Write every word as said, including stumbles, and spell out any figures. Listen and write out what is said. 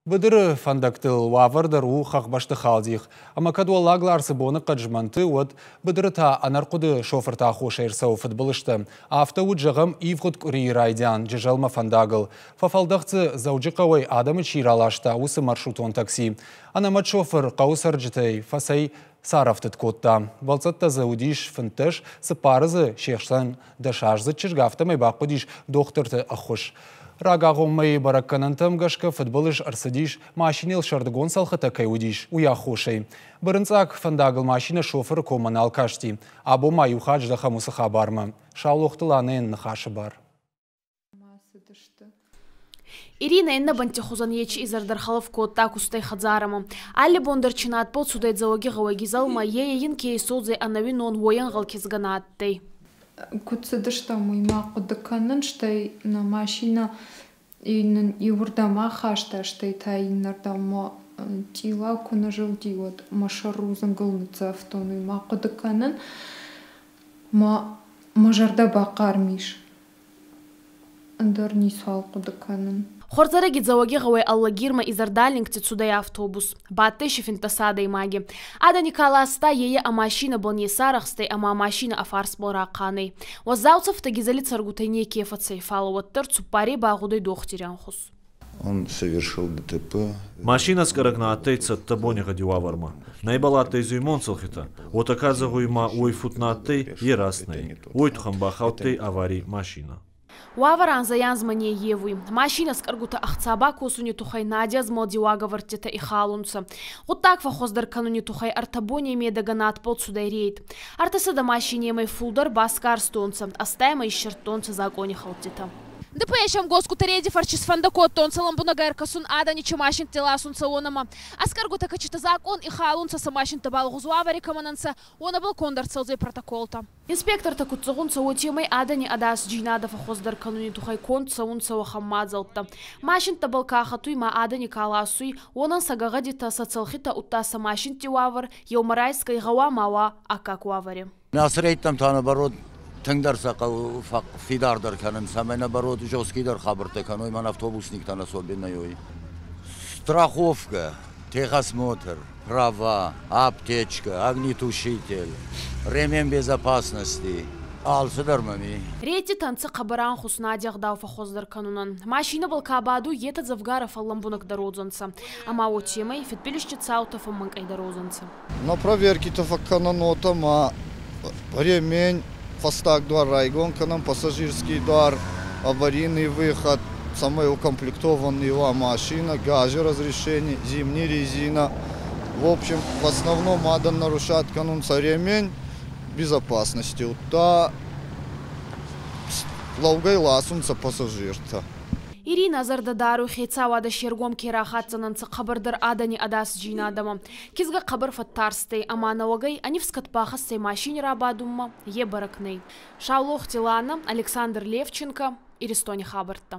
Быдыры фӕндӕгтыл уавӕр дӕр у хӕхбӕсты халдих. Ӕмӕ кӕд Уӕллаг Ларсы боныхъӕд змӕнты, уӕд быдыры та ӕнӕрхъуыды шофырты аххосӕй ӕрцӕуы фыдбылызтӕ. Афтӕ уыд, зӕгъӕм, ивгъуыд къуырийы райдиан Джызӕлмӕ фӕндагыл. Фӕфӕлдӕхт дзы, Дзӕуджыхъӕуӕй адӕмы чи раласта, уыцы маршрутон такси. Ӕнӕмӕт шофыр хъӕуы цӕрджытӕй фӕцӕй царӕфтыд кодта. Бӕлццӕттӕ дзы уыдис фынддӕс, цыппары дзы се хсӕн дӕсаздзыд чызг, афтӕмӕй бахъуыдис дохтырты ӕххуыс. Рагагъоммӕйы бӕрӕггӕнӕнтӕм гӕсгӕ фыдбылыз ӕрцыдис, машинӕйыл сӕрдыгон цӕлхытӕ кӕй уыдис, уый аххосӕй. Бырынцъаг фӕндагыл машинӕ шофыры коммӕ нал касти. Абон ма иу хатт здӕхӕм уыцы хабармӕ. Саулохты Ланӕйӕн ныхасы бар. Ирина иннӕ бӕнтти хузӕн ечи изӕр дӕр хӕлӕф кодта кустӕй хӕдзарӕмӕ. Алли бон дӕр чи надбӕл цудӕй Дзӕуӕгигъӕуӕй Гизӕлмӕ, е ин ке исодзӕй ӕнӕуинон, уойӕнгъӕл кизгӕ нӕ адтӕй. Куыд цыдыстӕм, уый ма хъуыды кӕнын, стӕй нӕ машинӕ нын иуырдӕм ахаста, стӕй та иннӕрдӕм цъилау куы нӕ зылди, уӕд мӕ сӕр рудзынгыл ныццавтон, уый ма хъуыды кӕнын. Мӕ мӕ зӕрдӕ бахъарм ис. Ӕндӕр ницуал хъуыды кӕнын. Хуӕрзӕрӕги Дзӕуӕгигъӕуӕй Алагирмӕ изӕрдалингти цудӕй автобус. Бадтӕй си финддӕс адӕймаги. Адӕни ка ласта, е ӕ машинӕбӕл не сарӕхстӕй ӕма машинӕ ӕ фарсбӕл рахъан ӕй. Уӕззау цӕфтӕ Гизӕли цӕргутӕй неке фӕцӕй, фал уӕддӕр цуппарей багъудӕй дохтири ӕнхус. Он совершил Д Т П. Машинӕскъӕрӕг нӕ адтӕй цӕттӕ бонигъӕди уавӕрмӕ. Нӕ ибӕл адтӕй зуймон цӕлхитӕ. Уотӕ ка зӕгъуй ма уой фуд нӕ адтӕй, е раст нӕй. Уой туххӕн бахаудтӕй аварий машинӕ. Уавӕр анзӕй-анзмӕ не ййевуй. Машинӕ скъӕргутӕ ӕхца бакосуни туххӕй нади ӕзмӕлди уагӕвӕрдтитӕ ихалунцӕ. Гъуддаг фӕххуӕздӕр кӕнуни туххӕй ӕртӕ боней медӕгӕ надбӕл цудӕй рейд. Ӕртӕсӕдӕ машинемӕй фулдӕр басгарстонцӕ, ӕстаймӕ иссердтонцӕ закъонихӕлдтитӕ. Д П С-ӕм косгутӕ рейди фӕрци исфӕндӕ кодтонцӕ лӕмбунӕг ӕркӕсун, адӕни чи машинтти ласунцӕ, уонӕмӕ. Ӕскъӕргутӕ, кӕцитӕ закъон ихалунцӕ, сӕ машинттӕбӕл лӕгъуз уавӕри кӕмӕн ӕнцӕ, уонӕбӕл конд ӕрцӕудзӕй протоколтӕ. Инспектортӕ куд зӕгъунцӕ, уотемӕй адӕни ӕдасдзийнадӕ фӕххуӕздӕр кӕнуни туххӕй конд цӕунцӕ уӕхӕн мадзӕлттӕ. Машинттӕбӕл ка хӕтуй ма адӕни ка ласуй, уонӕн сӕ гӕгъӕдитӕ, сӕ цӕлхитӕ, удта сӕ машинтти уавӕр еумӕ райсгӕй гъӕуама уа аккаг уавӕри. Ацы рейдтӕм та наоборот тынгдӕр сӕ хъӕуы фидардӕр кӕнын, цӕмӕй наоборот жесткийдӕр хабӕрттӕ кӕной, мӕн автобусниктӕн особенно ой. Страховка, техосмотр, права, аптечка, огнетушитель, ремень безопасности. Алцыдӕр мӕм и. Рейдтитӕ ӕнцӕ хъӕбӕр ӕнхус нади ӕгъдау фӕххуӕздӕр кӕнунӕн. Машинӕбӕл ка бадуй, етӕ дзӕвгарӕ фӕллӕмбунӕгдӕр уодзӕнцӕ. Ӕма уотемӕй фидбилизти цаутӕ фӕммӕнкъӕйдӕр уодзӕнцӕ. На проверки-тӕ фӕккӕнӕн уотӕ ма ремень, фӕстаг дуар райгон кӕнӕм, пассажирский дуар, аварийный выход, цӕмӕй укомплектованный уа машина, газы разрешение, зимний резина. В общем, в основном адӕм нарушать кӕнунцӕ ремень безопасности, удта лӕугӕй ласунцӕ пассажиртӕ. Ирина зӕрдӕ даруй, хецауадӕ се ргом ке рахатдзӕнӕнцӕ хъӕбӕрдӕр адӕни ӕдасдзийнадӕмӕ. Кизгӕ хъӕбӕр фӕттарстӕй ӕма нӕуӕгӕй ӕ нифс кӕд бахӕсдзӕй машини рабадунмӕ, е бӕрӕг нӕй. Саулохти Лана, Александр Левченко, Иристони хабӕрттӕ.